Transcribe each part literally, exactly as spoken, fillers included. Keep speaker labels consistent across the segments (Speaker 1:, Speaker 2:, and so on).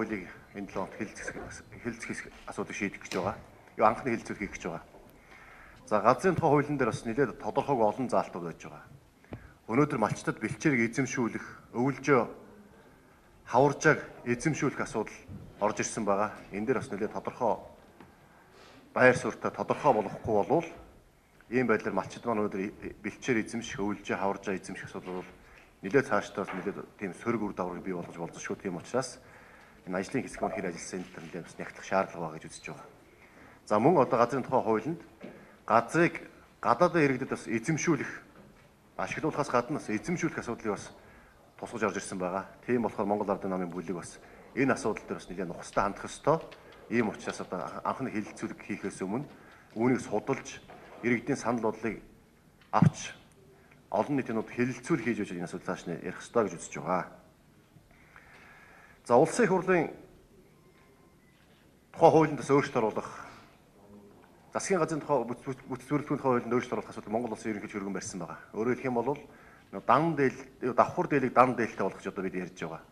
Speaker 1: хуулийг энэ талд хэлэлцэх асуудыг шийдэх гэж байгаа. Юу анхны хэлэлцэл хийх гэж байгаа. За газрын тухай хуулийн дээр бас нэлээд тодорхойг олон заалтууд байж байгаа. Өнөөдөр малчтад бэлчээрийг эзэмшүүлэх, өвөлжөө хаваржааг эзэмшүүлэх асуудал орж ирсэн байгаа. Энэ дээр бас нэлээд тодорхой байр суурьтай тодорхой болохгүй болвол ийм байдлаар малчид маань өнөөдөр бэлчээр эзэмших, өвөлжөө хаваржаа эзэмших асуудал бол нэлээд цаашдаа нэлээд тийм сөрөг үр дагаврыг бий болгож болзошгүй. Тийм учраас энэ ажлын хэсэг маань хэр ажилласан энэ төрлийн бас нягтлах шаардлага байгаа гэж үзэж байгаа. За мөн одоо газрын тухай хуулинд газрыг гадаадын иргэдэд бас эзэмшүүлэх, ашиглуулахаас гадна бас эзэмшүүлэх асуудлыг бас тусгаж орж ирсэн байгаа. Тийм болохоор Монгол Ардын намын бүлэг бас энэ асуудал дээр бас нэлээд нухастай хандах ёстой. Ийм учраас одоо анхны хэлэлцүүлэг хийхээс өмнө үүнийг судалж иргэдийн санал бодлыг авч олон нийтийн нууд хэлэлцүүл хийж өгч энэ асуудал цааш нь ярих ёстой гэж үзэж байгаа. За улсын их хурлын тухай хуулинд бас өөрчлөлт оруулах, засгийн газрын тухай бүтэц бүрэлдэхүүн тухай хуулинд өөрчлөлт оруулах асуудал Монгол улсын ерөнхий хөргөн барьсан байгаа. Өөрөөр хэлэх юм бол дан дээл, давхар дээлийг дан дээлтэй болгох гэж одоо бид ярьж байгаа.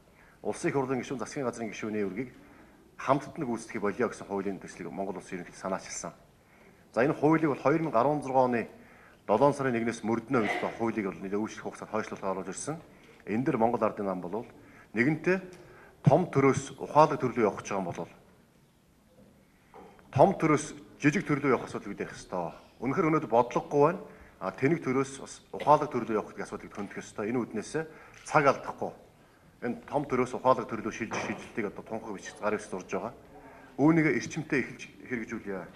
Speaker 1: Улсын их хурлын гишүүн, засгийн газрын гишүүний үргийг хамтдаа гүйцэтгэх болио гэсэн хуулийн төслийг Монгол улсын ерөнхий санаачилсан. За энэ хуулийг бол две тысячи десять оны долоон сарын нэгнээс мөрдөнө үед хуулийг бол нэлээд үүсгэх хугацаанд хойшлуулга оруулж ирсэн. Энэ дэр Монгол Ардын нам бол нэгэнтээ том төрөөс ухаалаг төрлөө явах гэж байгаа юм бол том төрөөс жижиг төрлөө явах асуудал бид ярих ёстой. Үнэхээр өнөөдөр бодлогогүй байна. А тэнэг төрөөс бас ухаалаг төрлөө явах гэдэг асуудлыг хөндөх ёстой. Энэ үднээс цаг алдахгүй. Энэ том төрөөс ухаалаг төрлөө шилжих шийдэлтийг одоо тунхаг бичиж гар ивс зурж байгаа. Үүнийг эрчимтэй эхэлж хэрэгжүүлье.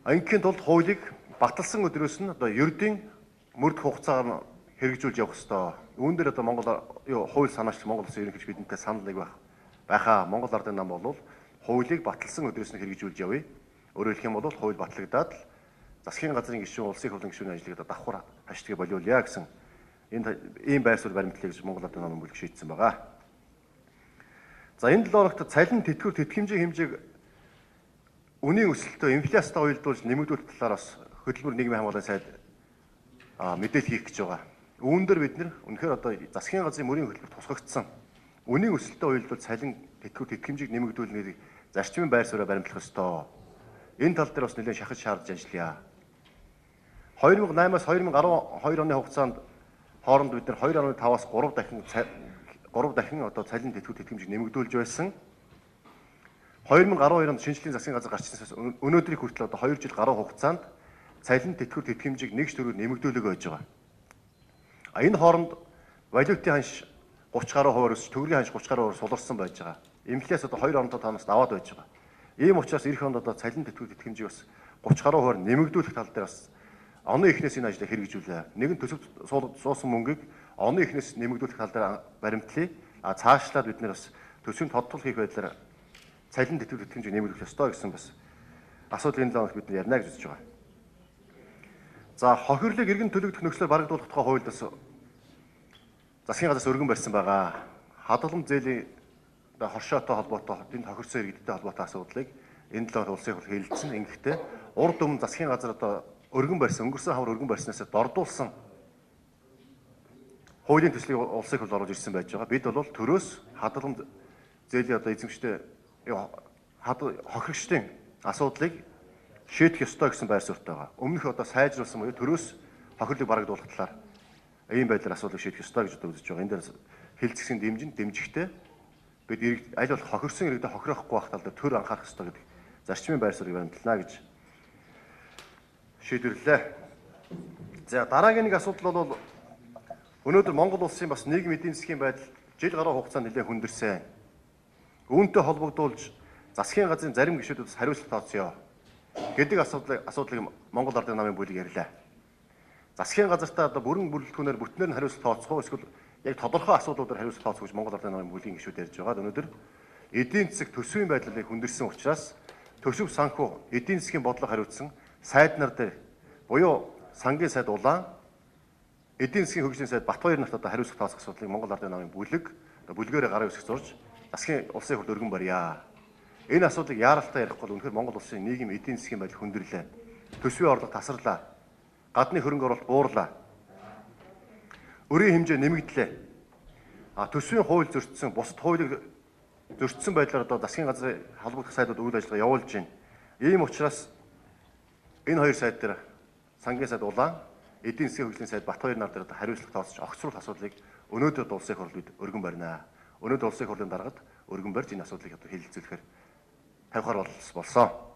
Speaker 1: Ангийн тулд хуулийг баталсан өдрөөс нь одоо ердийн мөрдөх хугацаагаар хэрэгжүүлж явах ёстой. Үүн дээр одоо Монгол юу хууль санаач Монгол Улсын ерөнхийч бидэнтэй санал нэг байх. Байхаа Монгол Ардын нам бол хуулийг баталсан өдрөөс нь хэрэгжүүлж явъя. Өөрөөр хэлэх юм бол хууль батлагдаад л засгийн газрын гишүүн, улсын их хурлын гишүүний ажлыг одоо давхар хаштгийг болиулъя гэсэн энэ ийм байр суурь баримтлалыг гэж Монгол Ардын намын бүлэг шийдсэн байгаа. За энэ долоорогт цалин тэтгэвэр тэтгэмжийн хэмжээг үнийн өсөлтөд инфляцтай уялдуулж нэмэгдүүлэх талаар бас хөтөлбөр нийгмийн хамгааллын сайд мэдээлэл хийх гэж байгаа. Үүн дээр бид нэр үнэхээр одоо засгийн газрын мөрийн хөтөлбөр тусгагдсан. Үнийн өсөлтөд уялдуулж цалин тэтгэвэр тэтгэмжийг нэмэгдүүлнээр зарчмын байр суурьа баримтлах ёстой. Энэ тал дээр бас нэлээд шахаж шаардж ажиллая. две тысячи восемь-аас две тысячи twelve оны хугацаанд хооронд бид нар two point five-аас three дахин three дахин одоо цалин тэтгэвэр тэтгэмжийг нэмэгдүүлж байсан. two thousand twelve онд шинжлэлийн засгийн газар гарчснаас өнөөдрийг хүртэл одоо two жил гаруй хугацаанд цалин тэтгэвэр тэтгэмжийг нэг төрөөр нэмэгдүүлэг байж байгаа. А энэ хооронд валютын ханш thirty гаруй хувиар өсч, төгрөгийн ханш thirty гаруй хувиар суларсан байж байгаа. Инфляц одоо two point five-аас даваад байж байгаа. Ийм учраас эх онд одоо цалин тэтгэвэр тэтгэмжийг бас thirty гаруй хувиар нэмэгдүүлэх тал дээр бас оны эхнээс энэ ажлыг хэрэгжүүлээ. Нэгэн төсөв суусан мөнгийг оны эхнээс нэмэгдүүлэх тал дээр баримтлая. А цаашлаад бид нэр бас төсвийн тодтол хийх байдлаар цалин тэтгэвэр тэтгэмжийг нэмэгдүүлэх ёстой гэсэн бас асуудлын талаар бид ярина гэж үзэж байгаа. За хохирлыг иргэн төлөгдөх нөхцөлөөр барагдуулах тухай хуульд бас засгийн газраас өргөн барьсан байгаа. Хадгалан зээлийн хоршоотой холбоотой тэнд хохирсон иргэдтэй холбоотой асуудлыг энэ талаар улсын их хурл хэлэлцсэн. Ингэхдээ урд өмнө засгийн газар одоо өргөн барьсан, өнгөрсөн хавар өргөн барьснаас дордуулсан хуулийн төслийг улсын их хурл оруулж ирсэн байж байгаа. Бид бол төрөөс хадгалан зээлийн одоо эзэмштэй хохирогчдын асуудлыг шийдэх ёстой гэсэн байр суурьтай байгаа. Өмнөх одоо сайжруулсан буюу төрөөс хохирлыг барагдуулах талаар ийм байдлаар асуудлыг шийдэх ёстой гэж одоо үзэж байгаа. Энэ дээр хэлцгсийн дэмжин дэмжихтэй бид аль болох хохирсон иргэдэд хохирохгүй байх тал дээр төр анхаарах ёстой гэдэг зарчмын байр суурийг баримтлана гэж шийдвэрлэлээ. За дараагийн нэг асуудал бол өнөөдөр Монгол улсын бас нийгмийн эдийн засгийн байдал жил гаруй хугацаанд нэлээд хүндэрсэн. Үүнтэй холбогдуулж засгийн газрын зарим гишүүдээс хариуцлага тооцъё гэдэг асуудлыг асуудлыг Монгол Ардын намын бүлэг ярьлаа. Засгийн газартаа одоо бүрэн бүрэлдэхүүнээр бүтнээр нь хариуцлага тооцох уу эсвэл яг тодорхой асуудлуудаар хариуцлага тооцох гэж Монгол Ардын намын бүлгийн гишүүд ярьж байгаа. Өнөөдөр эдийн засаг төсвийн байдлыг хүндэрсэн учраас төсөв санхүү эдийн засгийн бодлого хариуцсан сайд нар дээр буюу сангийн сайд Улаан, эдийн засгийн хөгжлийн сайд Батбаяр нарт одоо хариуцлага тооцох асуудлыг Монгол Ардын намын бүлэг бүлгээрээ гараа үсгэж зурж засгийн улсын их хурл өргөн барья. Энэ асуудлыг яаралтай ярихгүй бол үнэхээр Монгол улсын нийгэм эдийн засгийн байдал хүндрэлээ. Төсвийн орлого тасарлаа. Гадны хөрөнгө оруулалт буурлаа. Өрийн хэмжээ нэмэгдлээ. А төсвийн хууль зөрчсөн, бусад хуулийг зөрчсөн байдлаар одоо засгийн газрын холбогдох сайдууд үйл ажиллагаа явуулж байна. Ийм учраас энэ хоёр сайд дээр сангийн сайд Улаан, эдийн засгийн хөгжлийн сайд Батбаяр нар дээр хариуцлага тооцож огцруулах асуудлыг өнөөдөр улсын их хурлд өргөн барина. Өнөөдөр улсын их хурлын даргад өргөн барьж энэ асуудлыг одоо хэлэлцүүлэхээр тавихаар болсон.